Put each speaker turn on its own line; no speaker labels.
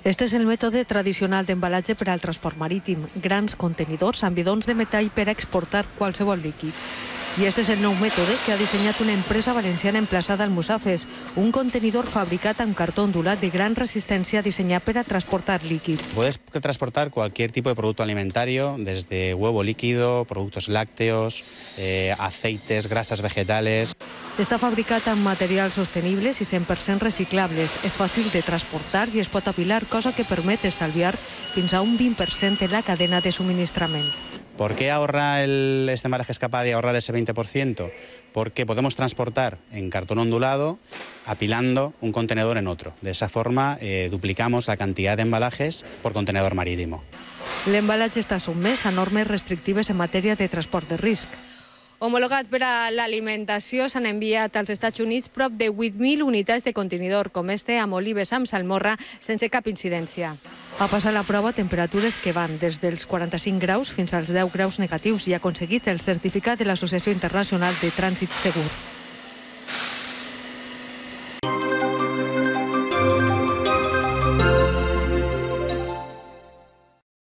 Este és el mètode tradicional d'embalatge per al transport marítim, grans contenidors amb bidons de metall per a exportar qualsevol líquid. I este és el nou mètode que ha dissenyat una empresa valenciana emplaçada al Musafes, un contenidor fabricat amb cartó ondulat de gran resistència diseñado para transportar líquids.
Puedes transportar cualquier tipo de producto alimentario, desde huevo líquido, productos lácteos, aceites, grasas vegetales.
Està fabricat amb materials sostenibles i 100% reciclables. És fàcil de transportar i es pot apilar, cosa que permet estalviar fins a un 20% en la cadena de suministrament.
¿Por qué este embalaje es capaz de ahorrar ese 20%? Porque podemos transportar en cartón ondulado apilando un contenedor en otro. De esa forma duplicamos la cantidad de embalajes por contenedor marítimo.
L'embalatge està sotmès a normes restrictives en matèria de transport de risc.
Homologat per a l'alimentació, s'han enviat als Estats Units prop de 8.000 unitats de contenidor, com este amb olives amb salmorra, sense cap incidència.
Ha passat la prova a temperatures que van des dels 45 graus fins als 10 graus negatius i ha aconseguit el certificat de l'Associació Internacional de Trànsit Segur.